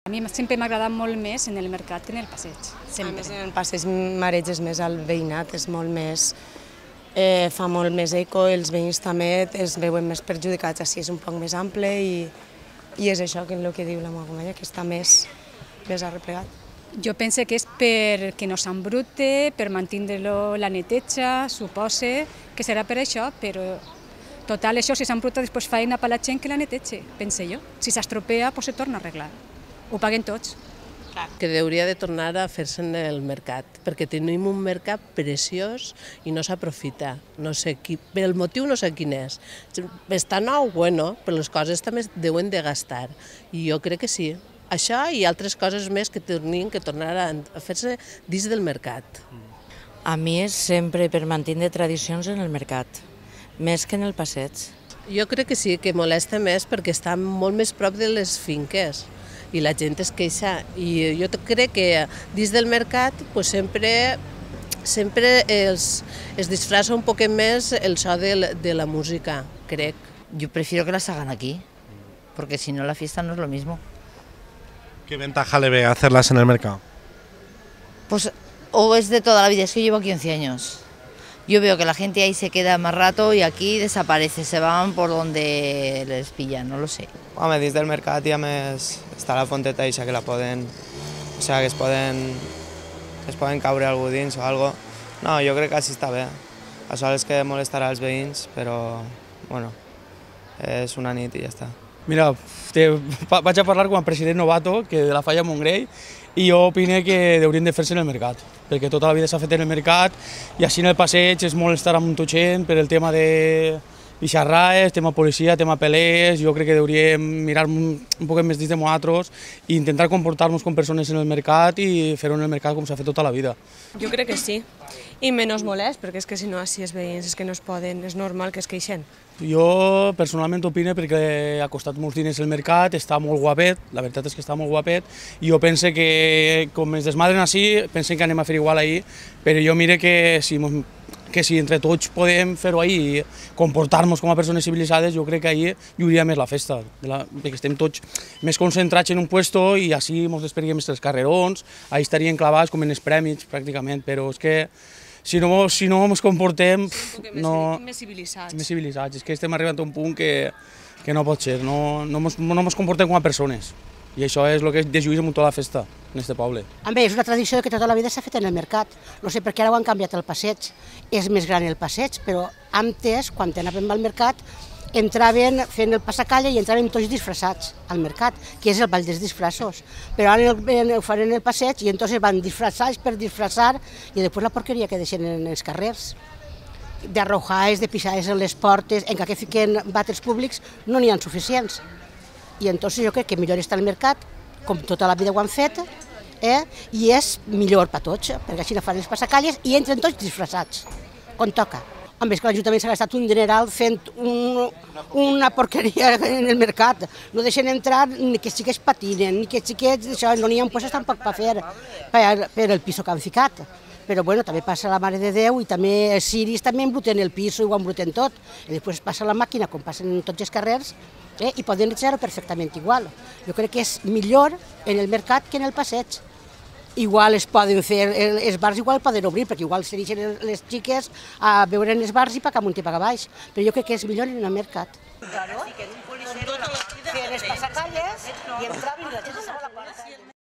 A mi sempre m'ha agradat molt més en el mercat que en el passeig, sempre. A més, en el passeig mareges més al veïnat, és molt més, fa molt més eco, els veïns també es veuen més perjudicats, així és un poc més ample i és això que és el que diu la meva companya, que està més arreplegat. Jo penso que és perquè no s'embrute, per mantenir-lo la neteja, supose que serà per això, però total, això, si s'embruta, després feina per la gent que la neteja, pense jo. Si s'estropea, doncs se torna a arreglar. Ho paguen tots. Que hauria de tornar a fer-se en el mercat, perquè tenim un mercat preciós i no s'aprofita. No sé el motiu no sé quin és. Està nou, bueno, però les coses també deuen de gastar. I jo crec que sí. Això i altres coses més que tenien que tornar a fer-se dins del mercat. A mi és sempre per mantenir tradicions en el mercat, més que en el passeig. Jo crec que sí, que molesta més perquè està molt més prop de les finques i la gent es queixa. I jo crec que dins del mercat pues, sempre es disfraça un poquet més el so de la música, crec. Yo prefiero que las hagan aquí, porque si no la fiesta no es lo mismo. ¿Qué ventaja le ve hacerlas en el mercado? Pues o es de toda la vida, es que llevo aquí 11 años. Yo veo que la gente ahí se queda más rato y aquí desaparece, se van por donde les pillan, no lo sé. Home, dins del mercat i a més està la fonteta eixa que la poden... O sigui, que es poden caure algú dins o algo. No, jo crec que així està bé. Això és que molestarà els veïns, però, bueno, és una nit i ja està. Mira, vaig a parlar com a president novato, que de la Falla Montgrell, i jo opino que haurien de fer-se en el mercat, perquè tota la vida s'ha fet en el mercat i així en el passeig és molt estar amb tota gent per el tema de bixarraes, tema policia, tema pelés. Jo crec que hauríem mirar un poc més dins de nosaltres i intentar comportar-nos com persones en el mercat i fer-ho en el mercat com s'ha fet tota la vida. Jo crec que sí, i menys molest, perquè és que si no així els veïns és que no es poden, és normal que es queixen. Jo personalment opino perquè ha costat molts diners el mercat, està molt guapet, la veritat és que està molt guapet, i jo penso que com ens desmadren així, pensen que anem a fer igual ahir, però jo mire que si entre tots podem fer-ho ahir i comportar-nos com a persones civilitzades, jo crec que ahir hi hauria més la festa, perquè estem tots més concentrats en un puesto i així ens desperguem els carrerons, ahir estarien clavats com en els prèmits pràcticament, però és que si no ens comportem... Més civilitzats. Més civilitzats, és que estem arribant a un punt que no pot ser, no ens comportem com a persones. I això és el que dejuïs amb tota la festa en aquest poble. Bé, és una tradició que tota la vida s'ha fet en el mercat. No sé per què ara ho han canviat el passeig. És més gran el passeig, però antes, quan anàvem al mercat, entraven fent el passacalla i entraven tots disfressats al mercat, que és el ball dels disfressos. Però ara ho fan en el passeig i entonces van disfressats per disfressar i després la porqueria que deixen en els carrers. D'arrojades, de pisades en les portes, encara que fiquen vàters públics, no n'hi ha suficients. I entonces jo crec que millor està al mercat, com tota la vida ho han fet, i és millor per tots, perquè així no fan els passacalles i entren tots disfressats, com toca. Home, és que l'Ajuntament s'ha gastat un dineral fent una porqueria en el mercat. No deixen entrar ni que xiquets patinen, ni que xiquets... No n'hi ha puestos tampoc per fer per el piso que han ficat. Però bueno, també passa la Mare de Déu i també els ciris també embruten el pis i ho embruten tot. I després passa la màquina, com passen en tots els carrers, i poden netejar-ho perfectament igual. Jo crec que és millor en el mercat que en el passeig. Igual es poden fer, els bars igual poden obrir, perquè igual se deixen les xiques a veure en els bars i pagar amunt i pagar baix. Però jo crec que és millor en el mercat. Claro, feien les passacalles i entraven i la gent estava a la porta.